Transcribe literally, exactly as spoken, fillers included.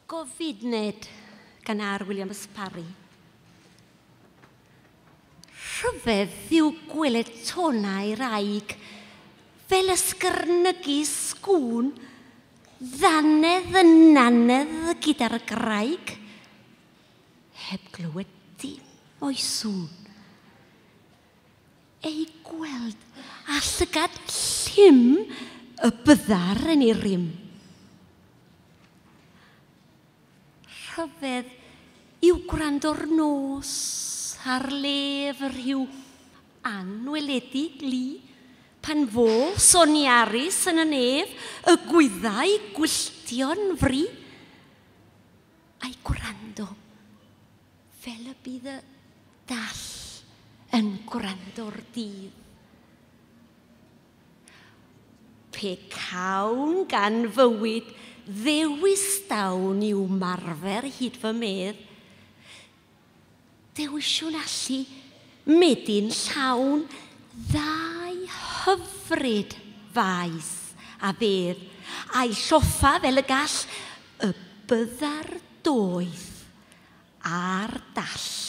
Gofidned gan R. Williams Parry. Rhyfedd yw gweled tonau raig fel ysgyrnygu sgŵn, ddannedd yn nannedd gyda'r graig, heb glywed dim o'i sŵn. Ei gweld a llygad llym y byddar yn ei rym. Rhyfedd yw gwrando'r nos ar lef rhyw anweledig lu, pan fo soniarus yn y nef y gwyddau gwylltion fri, a'i gwrando fel y bydd y dall yn gwrando'r dydd. Pe cawn gan fywyd ddewis dawn i'w marfer hyd fy medd, dewisiwn allu medi'n llawn ddau hyfryd faes a fedd, a'i lloffa fel y gall y byddar doeth a'r dall.